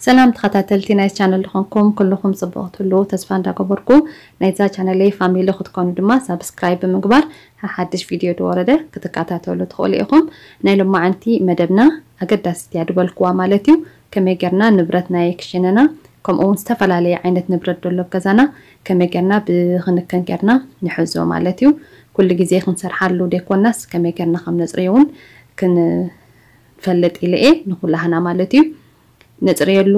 ሰላም ተኸታተልቲ ናይ ቻነል ዝኾንኩም ኩልኹም ጽቡቕ ትህልዉ ተስፋ እንዳገበርኩ፣ ናይዛ ቻነለይ ፋሚሊ ክትኮኑ ድማ ሳብስክራይብ ብምግባር ሓድሽ ቪድዮ ዝወረደ ክትከታተሉ ትኽእሉ ኢኹም። ናይ ሎማዓንቲ መደብና ኣገዳሲት እያ ዝበልኩዋ ማለት እዩ። ከመይ ጌርና ንብረት ናይ ክሽነና ከምኡ እውን ዝተፈላለየ ዓይነት ንብረት ዘሎ ኣብ ገዛና ከመይ ጌርና ብክንከን ጌርና ንሕዞ ማለት እዩ። ኩሉ ግዜ ክንሰርሓሉ ዘይኮናስ ከመይ ጌርና ከም ነጽርዮ እውን ክንፈልጥ ኢለ እየ ንኩላህና ማለት እዩ። ነጽርየሉ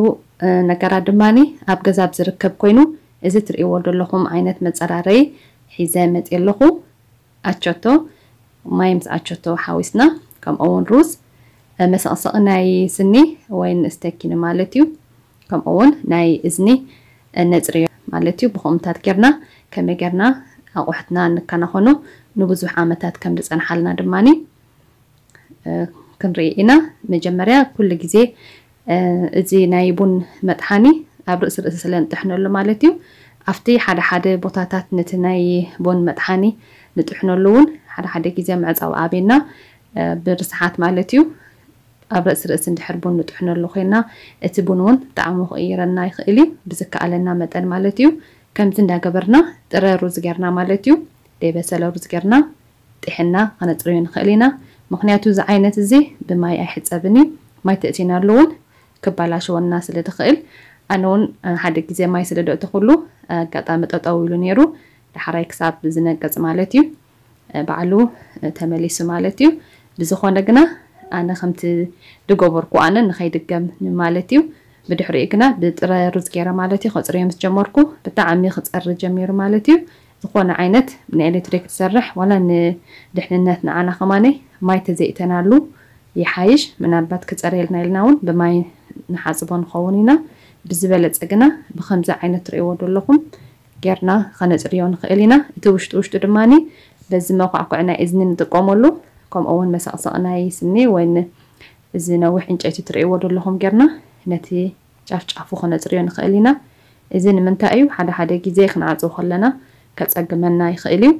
ነገራት ድማ ኣብ ገዛ ኣብ ዝርከብ ኮይኑ፣ እዚ ትርእይዎ ዘለኹም ዓይነት መጸራረይ ሒዘ መጽየ ኣለኹ። ኣቸቶ፣ ማይ ምስ ኣቸቶ ሓዊስና፣ ከምኡ እውን ሩዝ፣ መሰቕሰቒ ናይ ስኒ ወይ ንስተኪኒ ማለት እዩ። ከምኡ እውን ናይ እዝኒ ነጽርዮ ማለት እዩ። ብኸምታት ጌርና ከመይ ጌርና ኣቑሑትና ንከናኸኖ ንብዙሕ ዓመታት ከም ዝጸንሓልና ድማ ክንርኢ ኢና። መጀመርያ ኩሉ ግዜ እዚ ናይ ቡን መጥሓኒ ኣብ ርእሲ ርእሲ ስለ ንጥሕነሉ ማለት እዩ። ኣብቲ ሓደ ሓደ ቦታታት ነቲ ናይ ቡን መጥሓኒ ንጥሕነሉ እውን ሓደ ሓደ ግዜ መዕጸዊ ኣቤና ብርስሓት ማለት እዩ። ኣብ ርእሲ ርእሲ እንድሕር ቡን ንጥሕነሉ ኮይና እቲ ቡን እውን ጣዕሙ ክቕይረና ይኽእል እዩ ብዝከኣለና መጠን ማለት እዩ። ከምዚ እንዳገበርና ጥረ ሩዝ ጌርና ማለት እዩ፣ ደይበሰለ ሩዝ ጌርና ጥሕና ከነጽርዮ ንኽእል ኢና። ምኽንያቱ እዚ ዓይነት እዚ ብማይ ኣይሕጸብን እዩ። ማይ ተእቲናሉ እውን ክባላሸወና ስለ ዝኽእል፣ ኣነ እውን ሓደ ግዜ ማይ ስለ ደእተኹሉ ኣጋጣሚ ጠጠው ኢሉ ነይሩ። ዳሕራይ ክሳብ ዝነቅጽ ማለት እዩ ባዕሉ ተመሊሱ ማለት እዩ። ብዝኾነ ግና ኣነ ከምቲ ዝገበርኩ ኣነ ንኸይድገም ማለት እዩ። ብድሕሪኡ ግና ብጥረ ሩዝ ገይረ ማለት እዩ ከጽርዮ ምስ ጀመርኩ ብጣዕሚ ክጸሪ ጀሚሩ ማለት እዩ። ዝኾነ ዓይነት ንኤሌክትሪክ ትሰርሕ ዋላ ንድሕንነት ንዓና ከማነይ ማይ ተዘይእተናሉ ይሓይሽ። ምናልባት ክጸርየልና ኢልና እውን ብማይ ንሓጽቦ ንኸውን ኢና። ብዝበለጸ ግና ብኸምዚ ዓይነት ትርእይዎ ዘለኹም ጌርና ከነጽርዮ ንኽእል ኢና። እቲ ውሽጢ ውሽጢ ድማ በዚ መኳዕኩዒ ናይ እዝኒ ንጥቀመሉ፣ ከምኡ እውን መሳቕሳቕ ናይ ስኒ ወይ እዚ ነዊሕ ዕንጨይቲ ትርእይዎ ዘለኹም ጌርና ነቲ ጫፍ ጫፉ ከነጽርዮ ንኽእል ኢና። እዚ ንምንታይ እዩ? ሓደ ሓደ ግዜ ክንዓጽው ከለና ከጸግመና ይኽእል እዩ።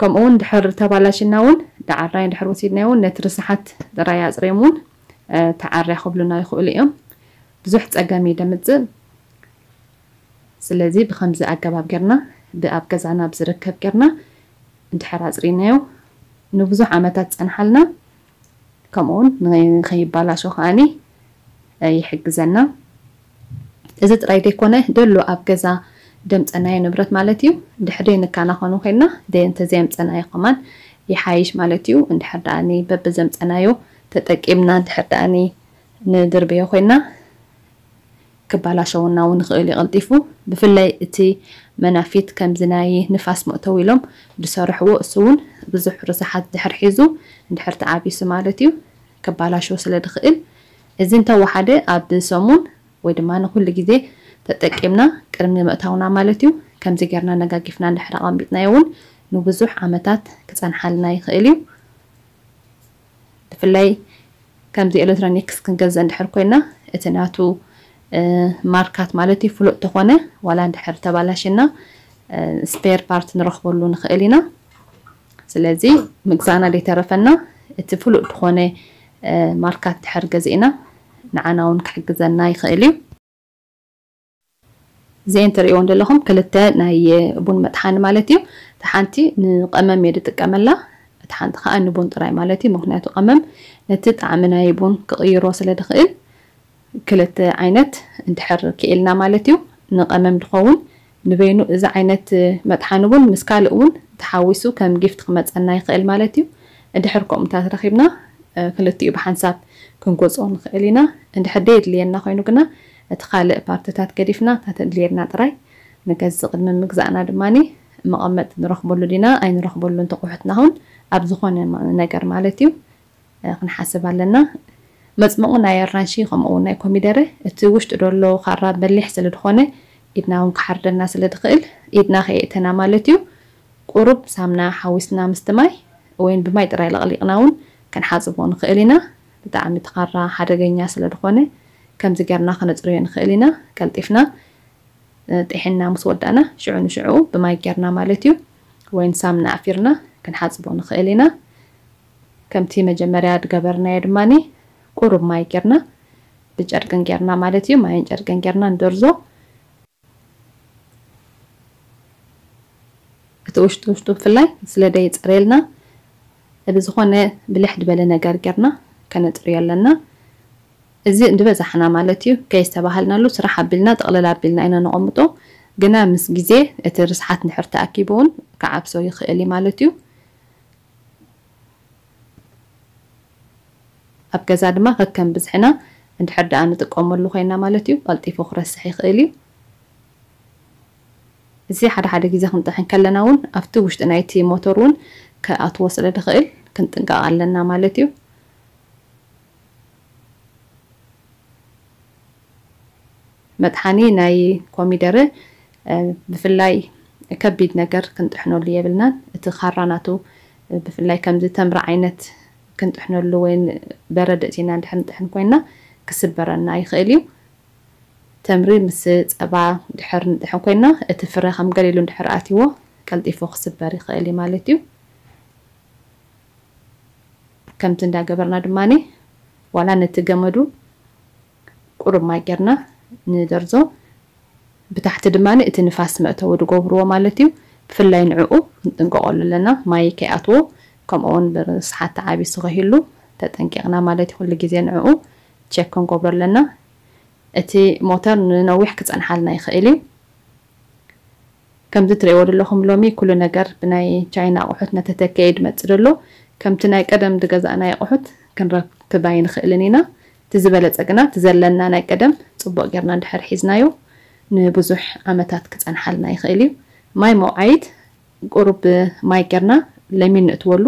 ከምኡ እውን ድሕር ተባላሽና እውን ዳዓራይ ድሕር ወሲድና እውን ነቲ ርስሓት ጥራይ ኣጽርዮም እውን ተዓርያ ክብሉና ይኽእሉ እዮም። ብዙሕ ጸገም እዩ ደምጽእ። ስለዚ ብኸምዚ ኣገባብ ጌርና ብኣብ ገዛና ብዝርከብ ጌርና እንድሕር ኣጽሪናዮ ንብዙሕ ዓመታት ጸንሓልና፣ ከምኡውን ንኸይባላሾ ከዓኒ ይሕግዘና። እዚ ጥራይ ዘይኮነ ደሎ ኣብ ገዛ ደምጸናዮ ንብረት ማለት እዩ። ድሕሪ ንካናኸኑ ኮይና እንተዘየምጸናዮ ከማን ይሓይሽ ማለት እዩ። እንድሕር ደኣኒ በብዘምጸናዮ ተጠቂምና እንድሕር ደኣኒ ንድርበዮ ኮይና ክባላሸወና እውን ይኽእል እዩ ቀልጢፉ። ብፍላይ እቲ መናፊት ከምዚ ናይ ንፋስ መእተዊ ኢሎም ዝሰርሕዎ እሱ እውን ብዙሕ ርስሓት ድሕር ሒዙ እንድሕር ተዓቢሱ ማለት እዩ ክባላሸው ስለ ዝኽእል እዚ እንተወሓደ ኣብ ሰሙን ወይ ድማ ንኩሉ ግዜ ተጠቂምና ቅድሚ ምእታውና ማለት እዩ ከምዚ ጌርና ነጋጊፍና እንድሕር ኣቐሚጥናዮ እውን ንብዙሕ ዓመታት ክጸንሓልና ይኽእል እዩ። ብፍላይ ከምዚ ኤሌክትሮኒክስ ክንገዝእ እንድሕር ኮይና እቲ ናቱ ማርካት ማለት እዩ ፍሉጥ ተኾነ ዋላ እንድሕር ተባላሽና ስፔር ፓርት ንረኽበሉ ንኽእል ኢና። ስለዚ ምግዛእና ዘይተረፈና እቲ ፍሉጥ ዝኾነ ማርካት ድሕር ገዚእና ንዓና እውን ክሕግዘና ይኽእል እዩ። እዚአን ትርእይወን ዘለኹም ክልተ ናይ ቡን መጥሓኒ ማለት እዩ። እቲ ሓንቲ ንቐመም እየ ዝጥቀመላ፣ እቲ ሓንቲ ከዓ ንቡን ጥራይ ማለት እዩ። ምክንያቱ ቀመም ነቲ ጣዕሚ ናይ ቡን ክቕይሮ ስለ ዝኽእል ክልተ ዓይነት እንድሕር ክኢልና ማለት እዩ። ንቐመም ዝኸውን ንበይኑ እዚ ዓይነት መጥሓኒ እውን ምስ ካልእ እውን ተሓዊሱ ከም ጊፍት ክመፀና ይኽእል ማለት እዩ። እንድሕር ከምኡታት ረኺብና ክልቲኡ ብሓንሳብ ክንጎፅኦ ንኽእል ኢና። እንድሕር ደየድልየና ኮይኑ ግና እቲ ካልእ ፓርትታት ገዲፍና እታ ተድልየና ጥራይ ንገዝእ። ቅድሚ ምግዛእና ድማ መቐመጥ ንረኽበሉ ዲና ኣይንረኽበሉን ተቑሑትና ኹን ኣብ ዝኾነ ነገር ማለት እዩ ክንሓስብ ኣለና። መፅመቑ ናይ ኣራንሺ ከምኡ እውን ናይ ኮሚደረ እቲ ውሽጢ ደሎ ካራ በሊሕ ስለ ዝኾነ ኢድና እውን ክሓርደና ስለ ዝኽእል ኢድና ከየእተና ማለት እዩ። ቁሩብ ሳምና ሓዊስና ምስቲ ማይ ወይን ብማይ ጥራይ ለቕሊቕና እውን ክንሓፅቦ ንኽእል ኢና። ብጣዕሚ እቲ ካራ ሓደገኛ ስለ ዝኾነ ከምዚ ጌርና ከነፅርዮ ንኽእል ኢና። ቀልጢፍና ጥሒና ምስ ወዳእና ሽዑ ንሽዑ ብማይ ጌርና ማለት እዩ ወይን ሳምና ኣፊርና ክንሓፅቦ ንኽእል ኢና። ከምቲ መጀመርያ ዝገበርናዮ ድማ ቁሩብ ማይ ጌርና ብጨርቅን ጌርና ማለት እዩ። ማይን ጨርቅን ጌርና ንደርዞ። እቲ ውሽጡ ውሽጡ ብፍላይ ስለ ደይጸርየልና ብዝኾነ ብልሕ ዝበለ ነገር ጌርና ከነጽርዮ ኣለና። እዚ ንበዛሕና ማለት እዩ፣ ከይስተባሃልናሉ ስራሕ ኣቢልና ጥቕልል ኣቢልና ኢና ነቐምጦ። ግና ምስ ግዜ እቲ ርስሓት እንድሕር ተኣኪቡ እውን ክዓብሶ ይኽእል እዩ ማለት እዩ። ኣብ ገዛ ድማ ከከም ብዝሕና እንድሕር ደኣ ንጥቀመሉ ኮይና ማለት እዩ፣ ቀልጢፉ ክረስሕ ይኽእል እዩ። እዚ ሓደ ሓደ ግዜ ክንጥሕን ከለና እውን ኣብቲ ውሽጢ ናይቲ ሞተር እውን ክኣትዎ ስለ ዝኽእል ክንጥንቀቕ ኣለና ማለት እዩ። መጥሓኒ ናይ ኮሚደረ ብፍላይ ከቢድ ነገር ክንጥሕነሉ የብልናን። እቲ ካራ ናቱ ብፍላይ ከምዚ ተምሪ ዓይነት ክንጥሕነሉ ወይ በረድ እቲና እንድሕር ንጥሕን ኮይና ክስበረና ይኽእል እዩ። ተምሪ ምስ ጸባ ድሕር ንጥሕን ኮይና እቲ ፍረ ከም ገሊሉ እንድሕር ኣትይዎ ቀልጢፉ ክስበር ይኽእል እዩ ማለት እዩ። ከምቲ እንዳገበርና ድማ ዋላ ነቲ ገመዱ ቁሩብ ማይ ጌርና ንደርዞ። ብታሕቲ ድማ እቲ ንፋስ መእተዊ ዝገብርዎ ማለት እዩ። ብፍላይ ንዕኡ ክንጥንቀቐሉ ኣለና፣ ማይ ከይኣትዎ። ከምኡ እውን ብርስሓት ተዓቢሱ ከይህሉ ተጠንቂቕና ማለት እዩ። ኩሉ ግዜ ንዕኡ ቸክ ክንገብሮ ኣለና። እቲ ሞተር ንነዊሕ ክጸንሓልና ይኽእል እዩ። ከምዚ ትርእይዎ ዘለኹም ሎሚ ኩሉ ነገር ብናይ ቻይና ኣቑሑት እናተተከየ ድመጽእ ዘሎ። ከምቲ ናይ ቀደም ዝገዛእናዮ ኣቑሑት ክንረክብ ኣይንኽእልን ኢና። እቲ ዝበለጸ ግና እቲ ዘለና ናይ ቀደም ጽቡቕ ጌርና እንድሕር ሒዝናዮ ንብዙሕ ዓመታት ክጸንሓልና ይኽእል እዩ። ማይ መውዓይት ቁሩብ ማይ ጌርና ለሚን ንእትወሉ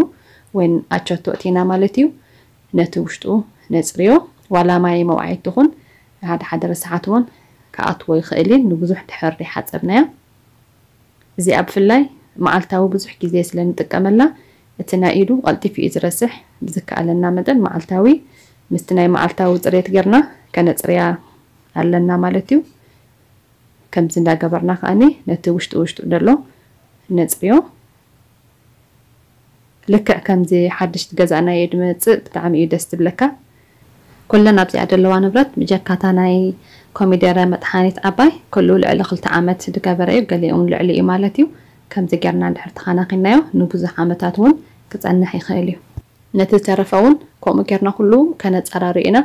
ወይ ኣቸቶ እቲና ማለት እዩ። ነቲ ውሽጡ ነጽርዮ። ዋላ ማይ መውዓይት ትኹን ሓደ ሓደ ርስሓት እውን ክኣትዎ ይኽእል እዩ፣ ንብዙሕ ድሕር ዘይሓጸብናያ። እዚኣ ብፍላይ መዓልታዊ ብዙሕ ግዜ ስለ ንጥቀመላ፣ እቲ ናይ ኢዱ ቀልጢፉ እዩ ዝረስሕ። ብዝከኣለና መጠን መዓልታዊ ምስቲ ናይ መዓልታዊ ጽሬት ጌርና ከነጽርያ ኣለና ማለት እዩ። ከምዚ እንዳገበርና ከኣኒ ነቲ ውሽጡ ውሽጡ ዘሎ ነጽርዮ። ልክዕ ከምዚ ሓድሽ ዝገዛእናዮ ድመጽእ ብጣዕሚ እዩ ደስ ዝብለካ። ኩለን ኣብዚኣ ዘለዋ ንብረት ብጀካታ ናይ ኮሚደረ መጥሓኒት ዓባይ ኩሉ ልዕሊ ክልተ ዓመት ዝገበረ እዩ፣ ገሊኦም ልዕሊ እዩ ማለት እዩ። ከምዚ ጌርና እንድሕር ተኻናኺናዮ ንብዙሕ ዓመታት እውን ክጸንሕ ይኽእል እዩ። ነቲ ዝተረፈ እውን ከምኡ ጌርና ኩሉ ከነጸራርዮ ኢና።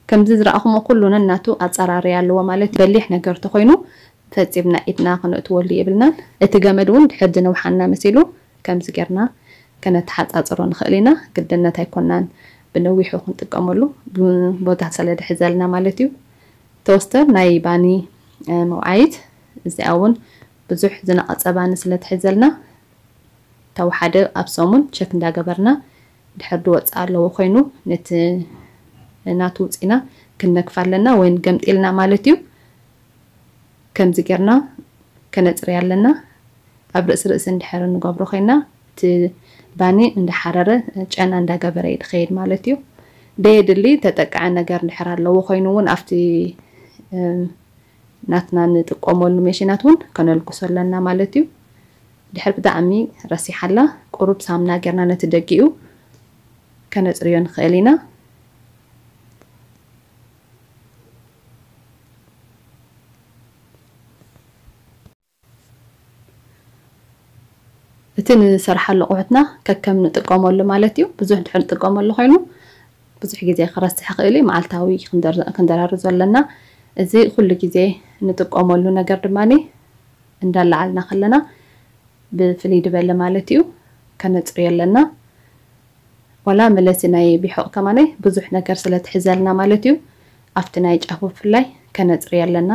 ከምዚ ዝረኣኹሞ ኩሉ ነናቱ ኣጸራርያ ኣለዎ ማለት እዩ። በሊሕ ነገር ተኾይኑ ፈጺምና ኢድና ክነእትወሉ የብልናን። እቲ ገመድ እውን ድሕር ዝነውሓና መሲሉ ከምዚ ጌርና ከነተሓጻጽሮ ንኽእል ኢና። ግድነት ኣይኮናን ብነዊሑ ክንጥቀመሉ፣ ብ-፣ ቦታ ስለ ድሕዘልና ማለት እዩ። ቶስተር ናይ ባኒ፣ እ፣ መውዓይት እዚኣ እውን ብዙሕ ዝነቐጸ ባኒ ስለ ትሕዘልና፣ ተወሓደ ኣብ ሰሙን ቸክ እንዳገበርና ድሕር ዝወጽእ ኣለዎ ኮይኑ ነቲ ናቱ ውጺና ክንነግፍ ኣለና ወይ ገምጢልና ማለት እዩ። ከምዚ ጌርና ከነጽርያ ኣለና። ኣብ ርእሲ ርእሲ እንድሕር እንገብሮ ኮይና እቲ ባኒ እንዳሓረረ ጨና እንዳገበረ እዩ ዝኸይድ ማለት እዩ። ደየድሊ ተጠቅዐ ነገር እንድሕር ኣለዎ ኮይኑ እውን ኣብቲ፣ እ፣ ናትና ንጥቀመሉ ሜሽናት እውን ከነልግሶ ኣለና ማለት እዩ። ድሕር ብጣዕሚ ረሲሓላ ቁሩብ ሳምና ጌርና ነቲ ደጊኡ ከነጽርዮ ንኽእል ኢና። እቲ ንሰርሓሉ ኣቑሑትና ከከም ንጥቀመሉ ማለት እዩ። ብዙሕ ድሕር ንጥቀመሉ ኮይኑ ብዙሕ ግዜ ክረስሕ ይኽእል እዩ። መዓልታዊ ክንደር-፣ ክንደራርዞ ኣለና። እዚ ኩሉ ግዜ ንጥቀመሉ ነገር ድማ እንዳለዓልና ከለና ብፍልይ ዝበለ ማለት እዩ ከነጽርዮ ኣለና። ዋላ መለሲ ናይ ቢሖቕ ከማነይ ብዙሕ ነገር ስለ ትሕዘልና ማለት እዩ ኣብቲ ናይ ጫፉ ብፍላይ ከነጽርዮ ኣለና።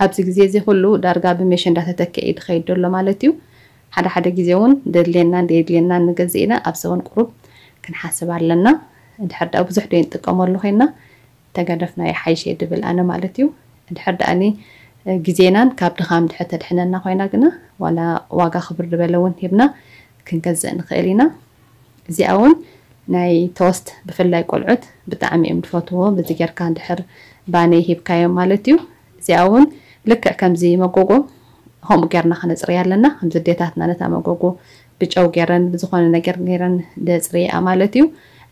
ኣብዚ ግዜ እዚ ኩሉ ዳርጋ ብሜሽ እንዳተተክአ እዩ ዝኸይድ ዘሎ ማለት እዩ። ሓደ ሓደ ግዜ እውን ደድልየና ደድልየና ንገዝእ ኢና፣ ኣብዚ እውን ቁሩብ ክንሓስብ ኣለና። እንድሕር ደኣ ብዙሕ ዶ ንጥቀመሉ ኮይና ተገደፍና ይሓይሽ እየ ድብል ኣነ ማለት እዩ። እንድሕር ደኣኒ ግዜናን ካብ ድኻም ድሕር ተድሕነና ኮይና ግና ዋላ ዋጋ ክብር ዝበለ እውን ሂብና ክንገዝእ ንኽእል ኢና። እዚኣ እውን ናይ ቶስት ብፍላይ ቆልዑት ብጣዕሚ እዮም ዝፈትዎ። በዚ ጌርካ እንድሕር ባኒ ሂብካዮም ማለት እዩ። እዚኣ እውን ልክዕ ከምዚ መጎጎ ከምኡ ጌርና ከነጽርያ ኣለና። ከምዚ ኣዴታትና ነታ መጎጎ ብጨው ገይረን ብዝኾነ ነገር ገይረን ደፅርየኣ ማለት እዩ።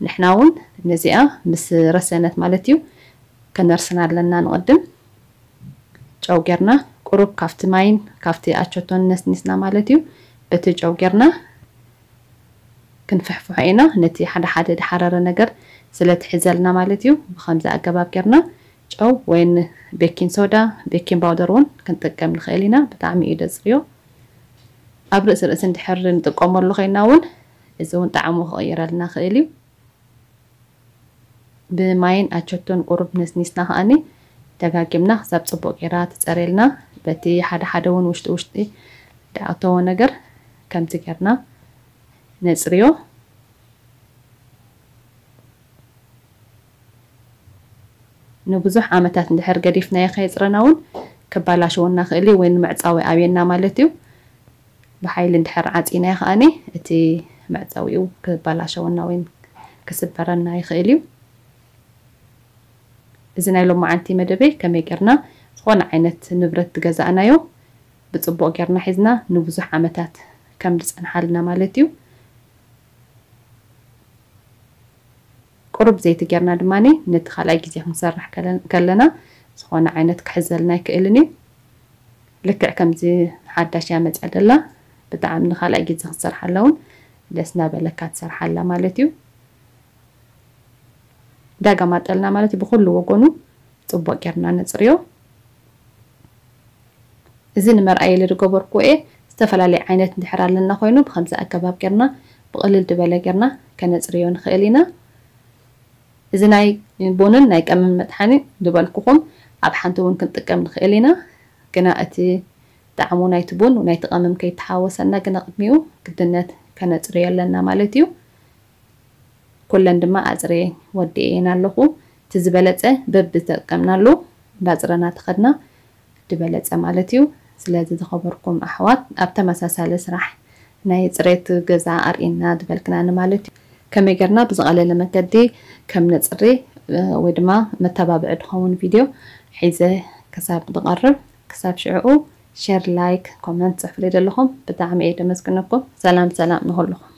ንሕና እውን ነዚኣ ምስ ረሰነት ማለት እዩ ከነርስና ኣለና። ንቕድም ጨው ጌርና ቁሩብ ካብቲ ማይን ካብቲ ኣቸቶን ነስኒስና ማለት እዩ። በቲ ጨው ጌርና ክንፍሕፍሖ ኢና። ነቲ ሓደ ሓደ ድሓረረ ነገር ስለ ትሕዘልና ማለት እዩ። ብኸምዚ ኣገባብ ጌርና ጨው ወይን ቤኪን ሶዳ፣ ቤኪን ባውደር እውን ክንጥቀም ንኽእል ኢና። ብጣዕሚ እዩ ደፅርዮ። ኣብ ርእሲ ርእሲ እንድሕር ንጥቀመሉ ኮይና እውን እዚ እውን ጣዕሙ ክቕይረልና ክእል እዩ። ብማይን ኣቸቶን ቁሩብ ነስኒስና ከኣኒ ደጋጊምና ክሳብ ፅቡቅ ጌራ ትፀርየልና። በቲ ሓደ ሓደ እውን ውሽጢ ውሽጢ ድኣተዎ ነገር ከምዚ ጌርና ነፅርዮ። ንብዙሕ ዓመታት እንድሕር ገዲፍናዮ ከየፅረና እውን ክባላሸወና ክእል እዩ፣ ወይ ንመዕፃዊ ኣብየና ማለት እዩ። ብሓይሊ እንድሕር ዓፂናዮ ከኣኒ እቲ መዕፀዊኡ ክባላሸወና ወይ ክስበረና ይኽእል እዩ። እዚ ናይ ሎማዓንቲ መደበይ ከመይ ጌርና ዝኾነ ዓይነት ንብረት ዝገዛእናዮ ብፅቡቕ ጌርና ሒዝና ንብዙሕ ዓመታት ከም ዝፀንሓልና ማለት እዩ። ቁሩብ ዘይቲ ጌርና ድማ ነቲ ካልኣይ ግዜ ክንሰርሕ ከለ- ከለና ዝኾነ ዓይነት ክሕዘልና ኣይክእልን እዩ። ልክዕ ከምዚ ሓዳሽ እያ መፅያ ደላ፣ ብጣዕሚ ንካልኣይ ግዜ ክትሰርሓላ እውን ደስ እናበለካ ትሰርሓላ ማለት እዩ። ዳጋ ማጠልና ማለት እዩ። ብኩሉ ወገኑ ፅቡቅ ጌርና ነፅርዮ። እዚ ንመርኣይ ኢለ ዝገበርኩዎ እየ። ዝተፈላለየ ዓይነት እንድሕር ኣለና ኮይኑ ብከምዚ ኣገባብ ጌርና ብቅልል ዝበለ ጌርና ከነፅርዮ ንኽእል ኢና። እዚ ናይ ቡንን ናይ ቀመም መጥሓኒ ዝበልኩኹም ኣብ ሓንቲ እውን ክንጥቀም ንኽእል ኢና። ግና እቲ ጣዕሙ ናይቲ ቡን ናይቲ ቀመም ከይተሓወሰና ግና ቅድሚኡ ግድነት ከነፅርዮ ኣለና ማለት እዩ። ኩለን ድማ ኣፅርየ ወዲኤን ኣለኹ። እቲ ዝበለፀ በብዝተጠቀምናሉ እንዳፅረና ተኸድና ዝበለፀ ማለት እዩ። ስለዚ ዝኸበርኩም ኣሕዋት ኣብ ተመሳሳሊ ስራሕ ናይ ፅሬት ገዛ ኣርእና ዝበልክናኒ ማለት እዩ። ከመይ ጌርና ብዝቐለለ መገዲ ከም ነፅሪ ወይ ድማ መተባብዒ ዝኸውን ቪድዮ ሒዘ ክሳብ ዝቐርብ ክሳብ ሽዕኡ ሸር፣ ላይክ፣ ኮመንት ፅሕፉለይ ዘለኹም ብጣዕሚ እየ ደመስግነኩም። ሰላም ሰላም ንኹልኹም።